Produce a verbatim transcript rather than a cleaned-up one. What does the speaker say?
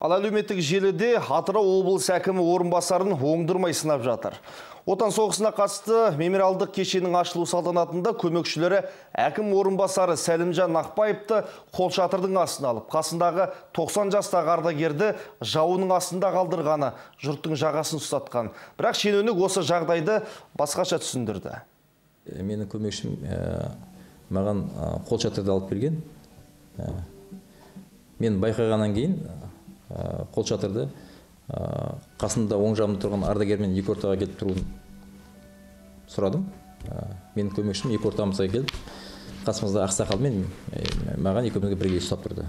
Ал әлеуметтік желіде Атырау облыс әкімі орынбасарын оңдырмай сынап жатыр. Отан соғысына қатысты мемориалдық кешеннің ашылу салтанатында көмекшілері әкім орынбасары Сәлімжан Ақпаевты қолшатырдың астына алып, қасындағы тоқсан жастағы ардагерді жауының астында қалдырғаны жұрттың жағасын ұстатқан. Бірақ шенеунік осы жағдайды басқаша түсіндірді. Менің көмекшім маған қолшатырды алып берген. Мен байқағаннан кейін қолшатырды қасында оң жағымда тұрған ардагермен екі ортаға келіп тұруын сұрадым. Менің көмекшім екі ортамызға келіп, қасымызда ақсақалмен маған екеумізге бірге ұстап тұрды.